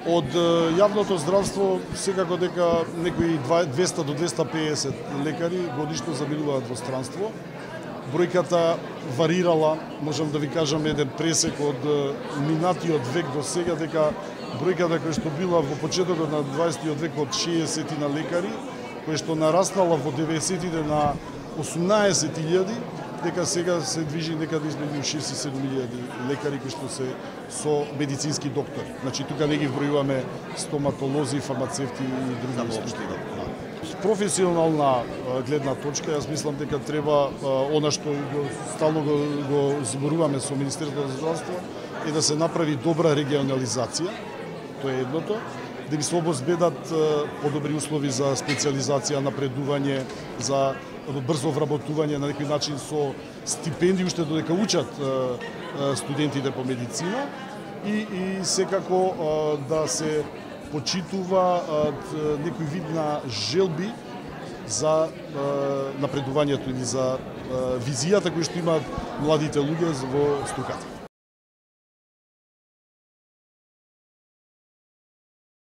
Од јавното здравство секако дека некои 200 до 250 лекари годишно заминуваат во странство. Бројката варирала, можам да ви кажам еден пресек од минатиот век до сега, дека бројката која што била во почетокот на 20 век од 60 на лекари, која што нараснала во 90-тите на 18.000, дека сега се движи некаде измеѓу 6 и 7.000 лекари кои што се со медицински доктори. Значи тука не ги вбројуваме стоматолози, фармацевти и други структури. Професионална гледна точка, јас мислам дека треба она што стално го зборуваме со Министерството за здравство е да се направи добра регионализација. Тоа е едното. Да би се обезбедат подобри услови за специализација, напредување, за брзо вработување на некој начин со стипендии уште додека учат студентите по медицина и секако да се почитува некој вид на желби за напредувањето или за визијата која што имаат младите луѓе во струката.